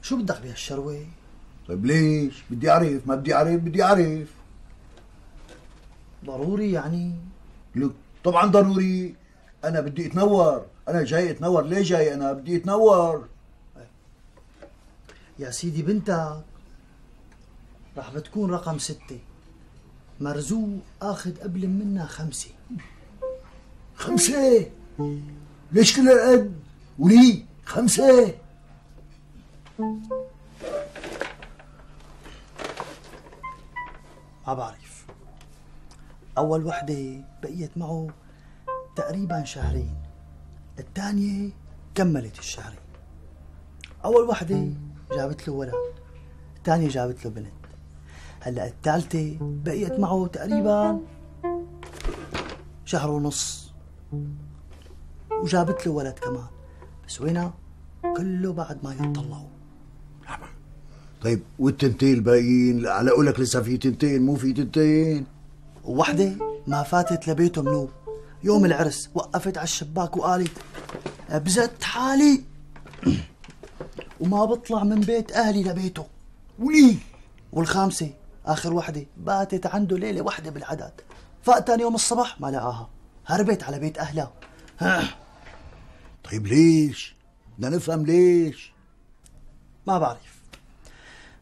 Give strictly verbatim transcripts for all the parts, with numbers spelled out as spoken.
شو بدك بهالشروة؟ طيب ليش؟ بدي أعرف، ما بدي أعرف بدي أعرف. ضروري يعني؟ لك طبعا ضروري، أنا بدي أتنور، أنا جاي أتنور. ليه جاي أنا؟ بدي أتنور. يا سيدي بنتك رح بتكون رقم ستة، مرزوق اخذ قبل منا خمسة. خمسة؟ ليش كل هالقد؟ ولي خمسة؟ ما بعرف. أول وحدة بقيت معه تقريبا شهرين، الثانية كملت الشهرين. أول وحدة جابت له ولد، الثانية جابت له بنت، هلا الثالثة بقيت معه تقريبا شهر ونص وجابت له ولد كمان، بس وينها؟ كله بعد ما يطلعوا. طيب والتنتين الباقيين؟ على قولك لسه في تنتين، مو في تنتين؟ ووحدة ما فاتت لبيته منوب. يوم العرس وقفت على الشباك وقالت بزت حالي وما بطلع من بيت أهلي لبيته. ولي والخامسة آخر وحدة باتت عنده ليلة وحدة بالعدد، فاق تاني يوم الصبح ما لقاها، هربت على بيت أهلها. طيب ليش؟ بدنا نفهم ليش. ما بعرف،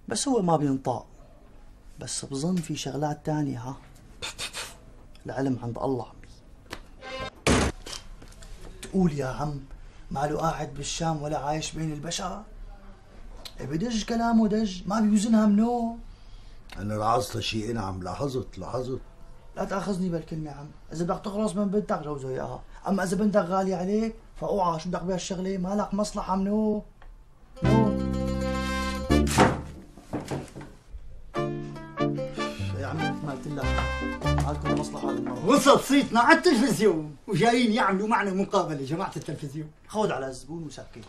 بس هو ما بينطق، بس بظن في شغلات تانية. ها العلم عند الله. تقول يا عم ماله قاعد بالشام ولا عايش بين البشر؟ بدج كلامه دج، ما بيوزنها منو. أنا لاحظت شيء. نعم لاحظت لاحظت. لا تاخذني بالكلمة يا عم، إذا بدك تخلص من بنتك جوزه إياها، أما إذا بنتك غالية عليك فأوعى. شو بدك بهالشغلة؟ مالك مصلحة منو؟ نو يا عمي مثل ما قلت لك مالكم مصلحة بالمرة. وصل صيتنا على التلفزيون وجايين يعملوا معنا مقابلة جماعة التلفزيون. خود على الزبون وسكت.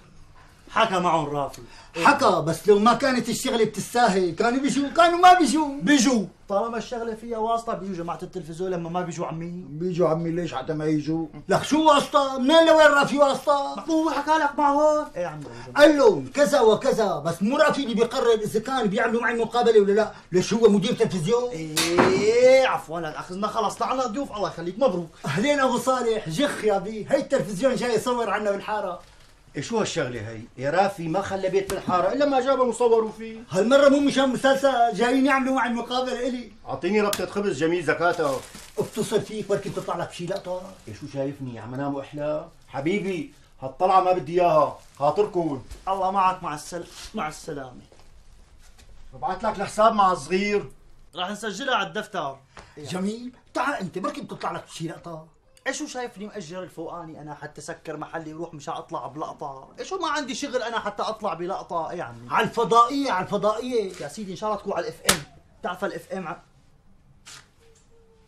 حكى معهم رافي. حكى، بس لو ما كانت الشغلة بتستاهل كانوا بيجوا، كانوا ما بيجوا. بيجوا طالما الشغلة فيها واسطة بيجوا جماعة التلفزيون. لما ما بيجوا عمي بيجوا عمي. ليش حتى ما يجوا؟ لك شو واسطة؟ منين لوين رافي واسطة؟ هو حكى لك معهم؟ ايه عمي قال لهم كذا وكذا، بس مو رافي اللي بيقرر اذا كان بيعملوا معي مقابلة ولا لا. ليش هو مدير تلفزيون؟ ايه عفوا لا تاخذنا، خلص طلعنا ضيوف. الله يخليك مبروك. اهلين ابو صالح. جخ يا بي، هي التلفزيون جاي يصور عنا بالحارة. إيه شو هالشغلة هي؟ يا رافي ما خلى بيت بالحارة إلا ما جابهم وصوروا فيه. هالمرة مو مشان مسلسل، جايين يعملوا معي مقابلة إلي. أعطيني ربطة خبز جميل زكاتها. اتصل فيك بركي بتطلع لك شي لقطة. إيه شو شايفني عم انام واحلى؟ حبيبي هالطلعة ما بدي إياها، خاطركم. الله معك. مع السل مع السلامة. ببعث لك الحساب مع الصغير. راح نسجلها على الدفتر. جميل، تعال أنت بركي بتطلع لك شي لقطة. ايش شو شايفني مأجر الفوقاني انا حتى سكر محلي وروح مشان اطلع بلقطه؟ ايش ما عندي شغل انا حتى اطلع بلقطه؟ ايه يا عمي على الفضائيه، على الفضائيه يا سيدي ان شاء الله تكون على الاف ام. بتعرف الاف ام ع...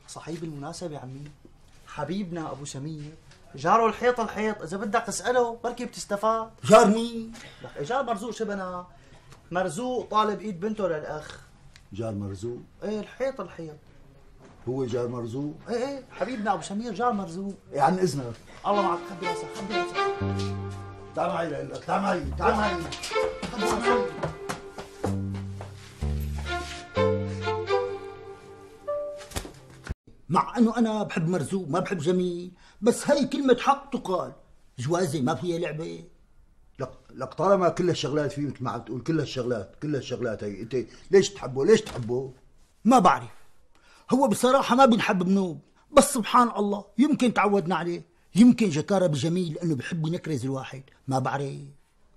صحيح بالمناسبه يا عمي، حبيبنا ابو سمير جاره الحيط الحيط، اذا بدك تساله بركي بتستفاد. جار مين؟ لك جار مرزوق شبنا، مرزوق طالب ايد بنته للاخ. جار مرزوق؟ ايه الحيط الحيط هو جار مرزوق؟ ايه ايه حبيبنا ابو سمير جار مرزوق. إيه عن اذنك. الله معك. خبي راسك خبي راسك. تعال معي لك، تعال معي تعال معي. خبي راسك. مع انه انا بحب مرزوق ما بحب جميل، بس هي كلمة حق تقال. جوازي ما فيها لعبة. لك لك طالما كل الشغلات فيه مثل ما عم تقول، كل الشغلات كل الشغلات هي، انت ليش تحبه؟ ليش تحبه؟ ما بعرف، هو بصراحة ما بنحب بنوب، بس سبحان الله يمكن تعودنا عليه، يمكن جكارة بجميل لأنه بحب ينكرز الواحد، ما بعرف.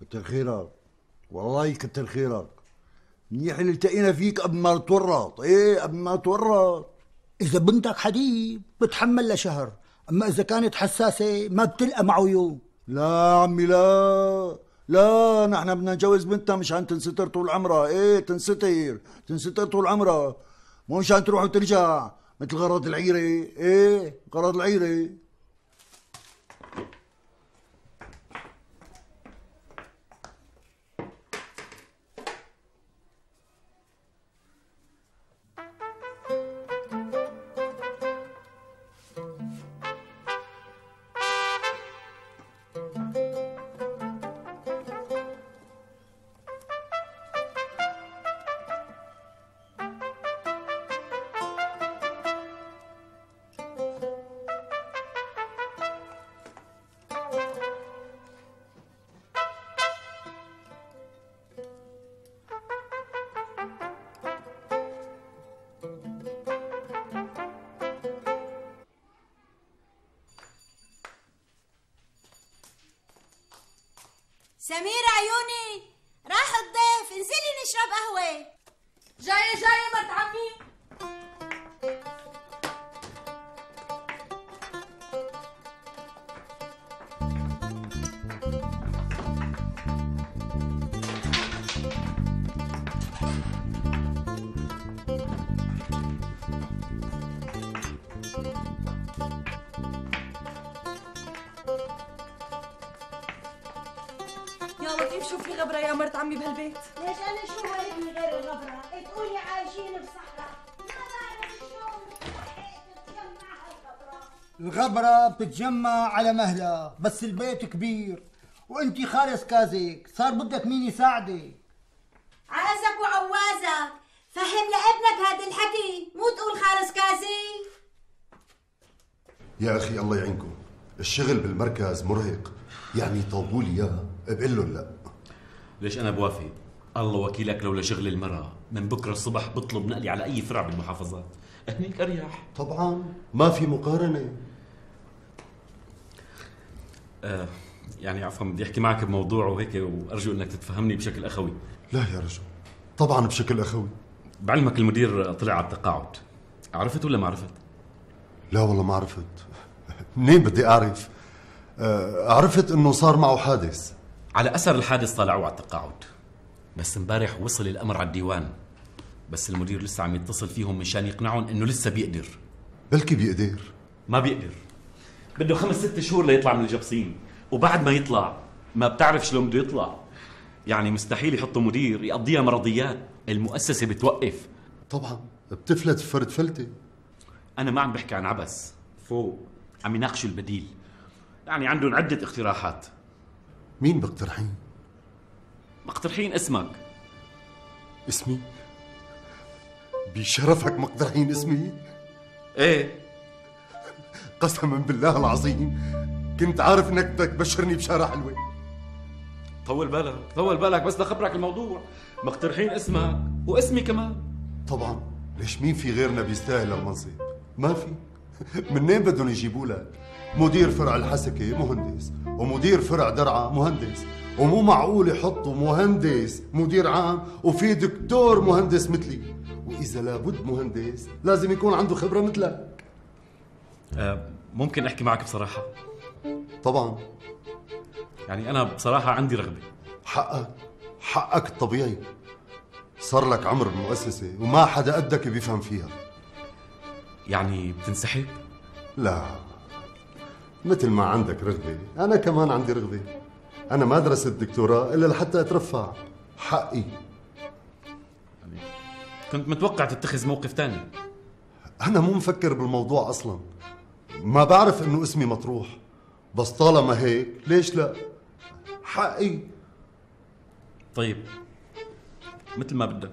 كتر خيرك والله كتر خيرك. منيح اللي التقينا فيك قبل ما تورط. ايه قبل ما تورط. إذا بنتك حديد بتحمل لها شهر، أما إذا كانت حساسة ما بتلقى معه يوم. لا عمي لا لا، نحن بدنا نجوز بنتنا مشان تنستر طول عمرها. ايه تنستر تنستر طول عمرها، مو مشان تروح وترجع مثل غرض العيرة. ايه غرض العيرة. سميرة عيوني، راح الضيف، انزلي نشرب قهوة. جاية جاية مرت عمي. يا لطيف شوف في غبرة يا مرت عمي بهالبيت. ليش أنا شو ولدني غير الغبرة؟ تقولي عايشين بصحراء، ما بعرف شلون بتتجمع هالغبرة. الغبرة بتتجمع على مهلها، بس البيت كبير وانتي خالص كازك، صار بدك مين يساعدك؟ عازك وعوازك، فهم لابنك هذا الحكي، مو تقول خالص كازي. يا أخي الله يعينكم، الشغل بالمركز مرهق، يعني طوبوا لي إياه بقول لهم لا. ليش أنا بوافق؟ الله وكيلك لولا شغل المرأة من بكرة الصبح بطلب نقلي على أي فرع بالمحافظات، هنيك أريح. طبعا ما في مقارنة. آه يعني عفوا بدي أحكي معك بموضوع وهيك، وأرجو أنك تتفهمني بشكل أخوي. لا يا رجل، طبعا بشكل أخوي. بعلمك المدير طلع على التقاعد، عرفت ولا ما عرفت؟ لا والله ما عرفت. منين بدي أعرف؟ آه عرفت إنه صار معه حادث. على أثر الحادث طلعوا على التقاعد، بس امبارح وصل الأمر على الديوان، بس المدير لسه عم يتصل فيهم مشان يقنعهم إنه لسه بيقدر. بلكي بيقدر. ما بيقدر، بده خمس ست شهور ليطلع من الجبصين، وبعد ما يطلع ما بتعرف شلون بده يطلع. يعني مستحيل يحطوا مدير يقضيها مرضيات، المؤسسة بتوقف. طبعا بتفلت فرد فلتة. أنا ما عم بحكي عن عبس، فوق عم يناقشوا البديل، يعني عندهم عدة اقتراحات. مين بقترحين؟ مقترحين اسمك. اسمي؟ بشرفك مقترحين اسمي؟ ايه قسما بالله العظيم كنت عارف انك بدك تبشرني بشارة حلوة. طول بالك طول بالك بس لخبرك الموضوع، مقترحين اسمك واسمي كمان. طبعا ليش مين في غيرنا بيستاهل المنصب؟ ما في. منين بدهم يجيبوا لك مدير فرع الحسكة مهندس، ومدير فرع درعا مهندس، ومو معقول يحطوا مهندس مدير عام وفي دكتور مهندس مثلي، وإذا لابد مهندس لازم يكون عنده خبرة مثلك. أه ممكن أحكي معك بصراحة؟ طبعا. يعني أنا بصراحة عندي رغبة. حقك حقك الطبيعي، صار لك عمر بالمؤسسة وما حدا قدك بيفهم فيها. يعني بتنسحب؟ لا، مثل ما عندك رغبة أنا كمان عندي رغبة. أنا ما درست الدكتوراه إلا لحتى أترفع، حقي. يعني كنت متوقع تتخذ موقف تاني. أنا مو مفكر بالموضوع أصلا، ما بعرف إنه اسمي مطروح، بس طالما هيك ليش لا؟ حقي. طيب مثل ما بدك.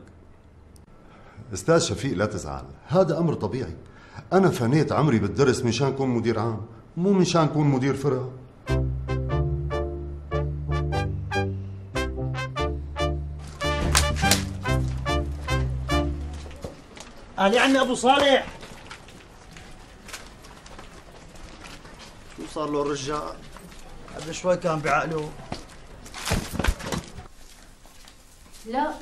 أستاذ شفيق لا تزعل، هذا أمر طبيعي. أنا فنيت عمري بالدرس مشان كون مدير عام، مو مشان كون مدير فرع. أهلي عمي أبو صالح. شو صار له الرجال؟ قبل شوي كان بعقله. لا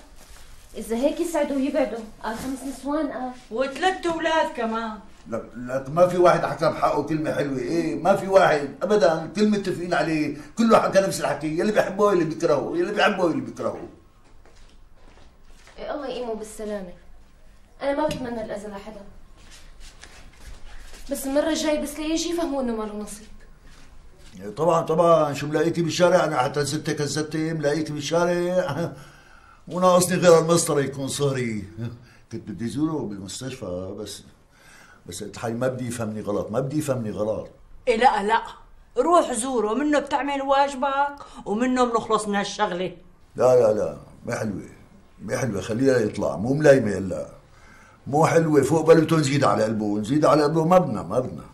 إذا هيك يسعدوا ويبعدوا، قال خمس نسوان قال وثلاث أولاد كمان. لا لا ما في واحد حكى بحقه كلمة حلوة، ايه ما في واحد ابدا، كل متفقين عليه، كله حكى نفس الحكي، يلي بيحبوه يلي بيكرهوه، يلي بيحبوه يلي بيكرهوه. إيه الله يقيمه بالسلامة. أنا ما بتمنى الأذى لحدا، بس المرة الجاي بس ليجي يفهموا إنه ماله نصيب. طبعا طبعا، شو ملاقيتي بالشارع؟ انا حتى ستة كذبتي ملاقيتي بالشارع، مو ناقصني غير المسطرة يكون صهري. كنت بدي زوره بالمستشفى، بس بس قلت حالي ما بدي يفهمني غلط، ما بدي يفهمني غلط. إيه لا لا، روح زوره، منه بتعمل واجبك ومنه بنخلص من هالشغلة. لا لا لا ما حلوة، ما حلوة، خليها يطلع، مو ملايمة هلا، مو حلوة، فوق بلوته نزيد على قلبه، نزيد على قلبه ما بدنا ما بدنا.